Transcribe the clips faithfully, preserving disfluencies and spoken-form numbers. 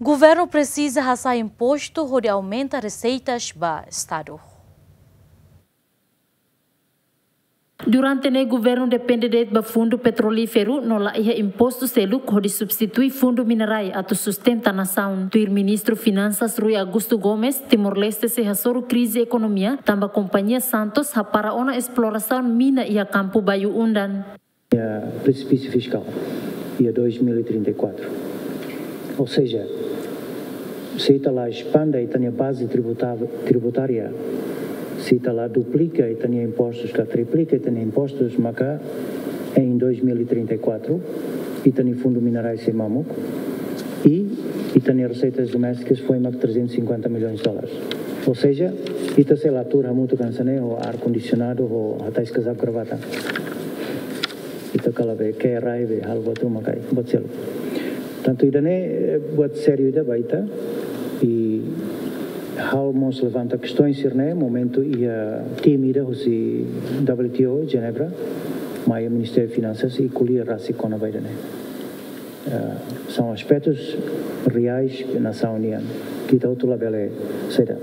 Governu presiza hasa'e impostu hodi aumenta reseitas ba Estadu. Durante ne'e governu depende de'it ba fundu petrolíferu no la iha impostu seluk hodi substitui fundu minerai atu sustenta nasaun. Tuir Ministru Finansas Rui Augusto Gomes, Timor-Leste sei hasoru krize ekonomia, tanba kompañia Santos hapara ona esplorasaun mina iha kampu Bayu-Undan. Iha presipísiu fiskál, iha dois mil e trinta e quatro. Ou seja, se ita la espande ita-nia baze tributa-, tributária, se ita la duplika ita-nia impostus, ka triplika ita-nia impostus, maka em dois mil e trinta e quatro, ita-nia fundu minerais sei mamuk, i ita-nia reseitas domésticas foin mak trezentos e cinquenta milhões de dólares. Ou seja, ita sei la tuur hamutuk hanesan ne'e ho ar-kondisionadu, ho hatais kazaku gravata. Ita kala be ke rai be halo buat ruma kai, buat seluk. Tantu ida-ne'e, eh, buat sériu ida ba ita. I ha'u mós levanta kestaun sira-ne'e, momentu iha tim ida husi W T O, Jenebra, mai Ministériu Finansas i ko'alia rasik kona-ba ida-ne'e. Eh, são aspectos reais ke nasaun nian, ke ita hotu labele seda.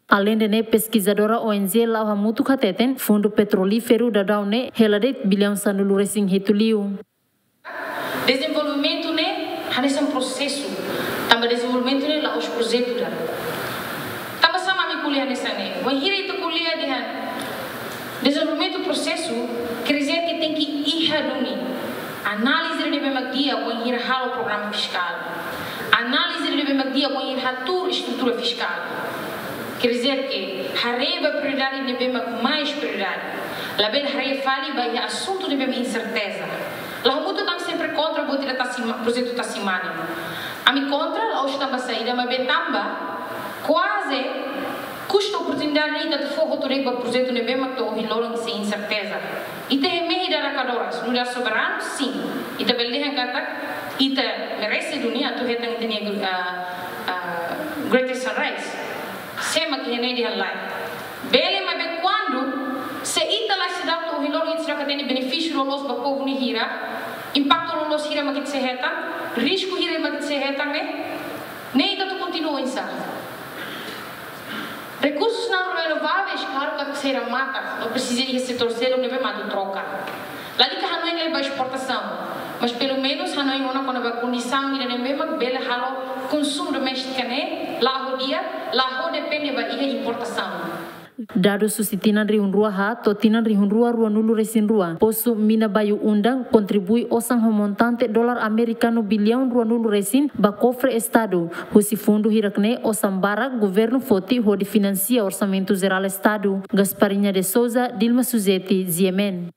Aleinde ne'e, peskizadora O N G La'o Hamutuk hateten, fundu petrolíferu daudaun ne'e hela de'it billaun sanulu-resin-hitu liu. Dezenvolvimentu ne'e hanesan prosesu, tanba dezenvolvimentu ne'e la'ós projetu ida. Tanba sá mak ami ko'alia hanesan ne'e? Wainhira ita ko'alia dehan dezenvolvimentu prosesu, quer dizer que tenke iha duni análize ida ne'ebé mak di'ak wainhira halo programa fiskál. Análize ida ne'ebé mak di'ak wainhira hatuur estrutura fiskál. Quer dizer que haree ba prioridade ne'ebé mak mais prioridade. Labele haree fali ba iha asuntu ne'ebé mak inserteza. La'o Hamutuk ami sempre kontra buat ida tasi ma-, projetu tasi mane. Ami kontra la'ós tanba saida, maibé tanba kuaze kusta oportunidade ita atu fó hotu de'it ba projetu ne'ebé mak to'o ohin loron sei inserteza. Ita hemehi dada kadoras, nu'udar soberanu, sin. Ita bele dehan katak ita merese duni atu hetan ita-nia, ah, ah, Greater Sunrise. Sé mak iha ne'e dehan lae. Bele, maibé kuandu se ita la seidauk to'o ohin loron ita seidauk hatene benefísiu loloos ba povu nia hira, impaktu loloos hira mak ita sei hetan, risku hira mak ita sei hetan ne'e, ne'e ita atu kontinua oinsá? Rekursus não renováveis, klaru katak sei remata, no presiza iha setór seluk ne'ebé mak atu troka. Lalika hanoin lai ba esportasaun, mas pelumenus hanoin ona kona-ba kondisaun ida ne'ebé mak bele halo konsumu doméstika ne'e la'o di'ak, la'o depende ba iha importasaun. Dadus husi tinan rihun rua haat to'o tinan rihun rua ruanulu-resin-rua, posu mina Bayu-Undan kontribui osan ho montante dolar amerikanu billaun ruanulu-resin ba kofre Estadu. Husi fundu hirak-ne'e osan barak governu foti hodi finansia Orsamentu Jerál Estadu. Gasparinha de Souza, Dilma Suzeti, G M N.